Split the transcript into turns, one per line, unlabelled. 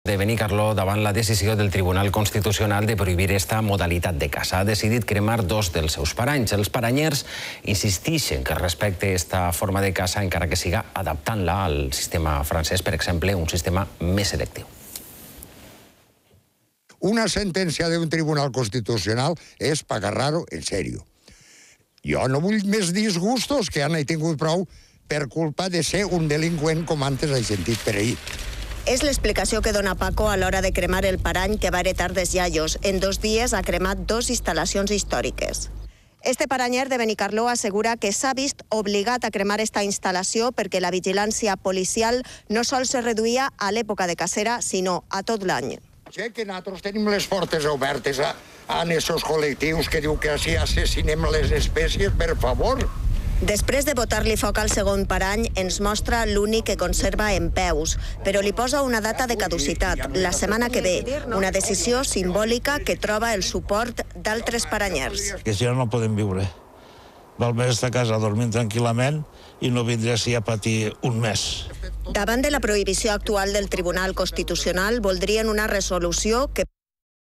de Benicarló davant la decisió del Tribunal Constitucional de prohibir esta modalitat de caça. Ha decidit cremar 2 dels seus paranys. Els paranyers insisteixen que respecte esta forma de caça encara que siga adaptant-la al sistema francès, per exemple, un sistema més selectiu.
Una sentencia de un tribunal constitucional és para agarrar-ho en serio. Jo no vull més disgustos, que ja n'he tingut prou per culpa de ser un delinqüent, com antes he sentit per ahir.
És l'explicació que dona Paco a l'hora de cremar el parany que va heretar dels iaios. En 2 dies ha cremat 2 instal·lacions històriques. Este paranyer de Benicarló assegura que s'ha vist obligat a cremar esta instal·lació perquè la vigilància policial no sols se reduïa a l'època de cacera, sinó a tot l'any.
Que nosaltres tenim les portes obertes a aquests col·lectius que diu que així assassinem les espècies, per favor.
Després de botar-li foc al segon parany, ens mostra l'únic que conserva en peus, però li posa una data de caducitat, la setmana que ve, una decisió simbòlica que troba el suport d'altres paranyers.
Que si no, no podem viure. Val més estar a casa dormint tranquil·lament i no vindré així a patir un mes.
Davant de la prohibició actual del Tribunal Constitucional, voldrien una resolució que